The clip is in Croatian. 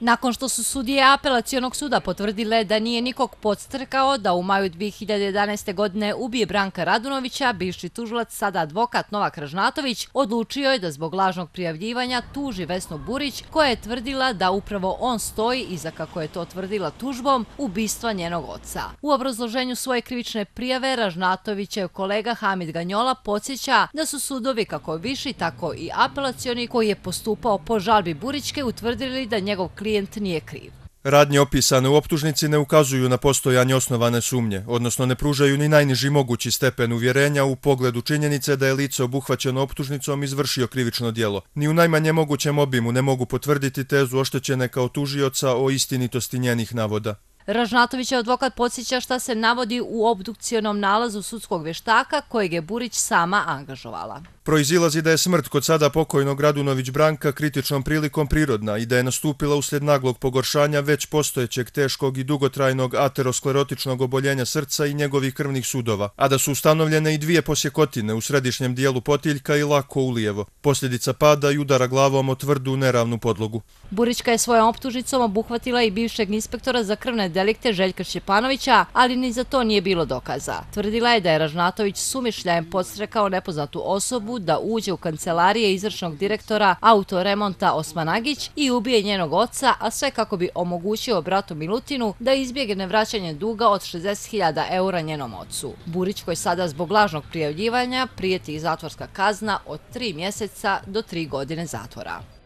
Nakon što su sudije Apelacionog suda potvrdile da nije nikog podstrkao da u maju 2011. godine ubije Branka Radunovića, bivši tužilac, sada advokat Novak Ražnatović, odlučio je da zbog lažnog prijavljivanja tuži Vesnu Burić, koja je tvrdila da upravo on stoji iza, kako je to tvrdila tužbom, ubistva njenog oca. U obrazloženju svoje krivične prijave Ražnatovićev kolega Hamid Ganjola podsjeća da su sudovi, kako viši, tako i apelacioni, koji je postupao po žalbi Burićke, utvrdili da njegov klijent nije kriv. Radnje opisane u optužnici ne ukazuju na postojanje osnovane sumnje, odnosno ne pružaju ni najniži mogući stepen uvjerenja u pogledu činjenice da je lice obuhvaćeno optužnicom izvršio krivično djelo. Ni u najmanje mogućem obimu ne mogu potvrditi tezu oštećene kao tužioca o istinitosti njenih navoda. Ražnatovićev advokat podsjeća šta se navodi u obdukcionom nalazu sudskog vještaka kojeg je Burić sama angažovala. Proizilazi da je smrt kod sada pokojnog Radunović Branka kritičnom prilikom prirodna i da je nastupila uslijed naglog pogoršanja već postojećeg teškog i dugotrajnog aterosklerotičnog oboljenja srca i njegovih krvnih sudova, a da su ustanovljene i dvije posjekotine u središnjem dijelu potiljka i lako ulijevo, posljedica pada i udara glavom o tvrdu neravnu podlogu. Burićka je svojom optužnicom obuhvatila i bivšeg inspektora za krvne delikte Željka Šćepanovića, ali ni za to nije bilo dokaza. Tvrdila je da je Ražnatović sumišljajem podstrekao nepoznatu osobu da uđe u kancelarije izvršnog direktora autoremonta Osmanagić i ubije njenog oca, a sve kako bi omogućio bratu Milutinu da izbjegne vraćanje duga od 60.000 eura njenom ocu. Burić, koji sada zbog lažnog prijavljivanja, prijeti zatvorska kazna od 3 mjeseca do 3 godine zatvora.